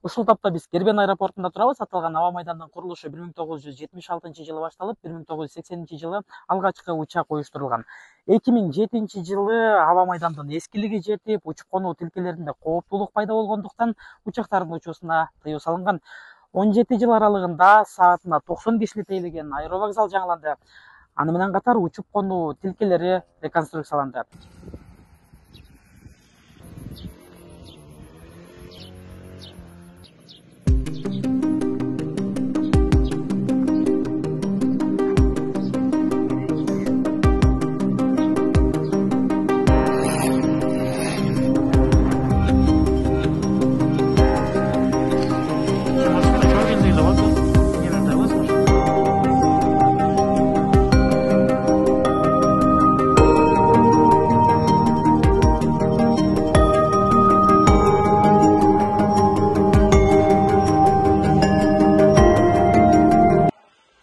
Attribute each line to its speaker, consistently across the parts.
Speaker 1: Ушул тапта биз Кербен аэропортунда турабыз. Аталган аба майдандын курулушу 1976-жылы башталып, 1980-жылы алгачкы учак уюштурулган. 2007-жылы аба майдандын эскилиги жетип, учуп конуу тилкелеринде кооптуулук пайда болгондуктан учактардын учуусуна тыюу салынган. 17 жыл аралыгында саатына 90 кишини тейлеген аэровокзал жаңыланды. Аны менен катар учуп конуу тилкелери реконструкцияланды.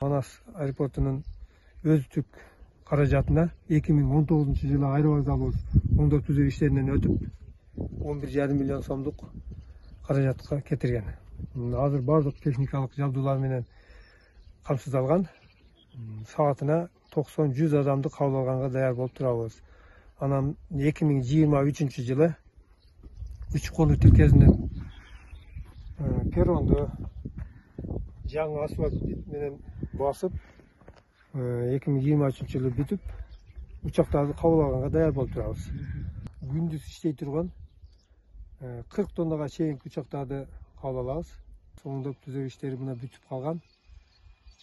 Speaker 2: Манас аэропортунун өздүк каражатына 2019-жылы аэровокзалыбыз оңдоо түзөө иштеринен өтүп 11,5 миллион сомдук каражатка кетирген. Азыр бардык техникалык жабдуулар менен камсыздалган. Саатына 90-100 адамды кабыл алганга даяр болуп турабыз. Анан 2023-жылы учуп конуу тилкесинен перронду жаңы асфальт менен басып 2023-жылы бүтүп учактарды кабыл алганга даяр болуп турабыз. Күндүз иштей турган 40 тоннага чейинки учактарды кабыл алабыз. Оңдоп түзөө иштери мына бүтүп калган.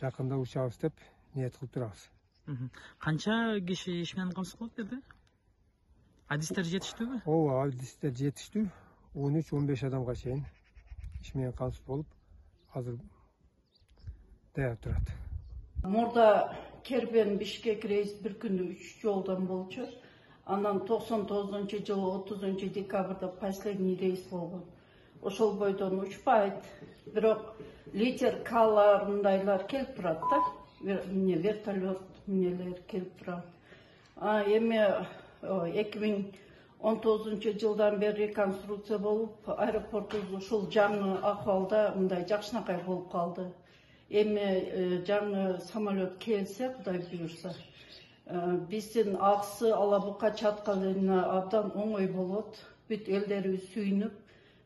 Speaker 2: Жакында учабыз деп ниет кылып турабыз.
Speaker 1: Канча киши иш менен камсыз кылып берди? Адистер жетиштүүбү?
Speaker 2: Ооба, адистер жетиштүү. 13-15 адамга чейин иш менен камсыз болуп, азыр даяр турат.
Speaker 3: Мурда Кербен Бишкек рейс bir күндө 3 жолдон болчу. Анан 99-жылы 30 декабрда последний рейс болгон. Ошол бойдон учпайт. Бирок литер-калар мындайлар келип турат да. Вертолет эмнелер келип турат. Эми 2019-жылдан бери реконструкция болуп, аэропортубуз ушул жаңы акыбалда мындай жакшынакай болуп калды. Эми жаңы самолет келсе, Кудай буюрса, биздин аксы Алабука чаткалына абдан оңой болот. Бүт элдерибиз сүйүнүп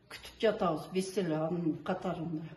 Speaker 3: күтүп жатабыз биз деле анын катарында.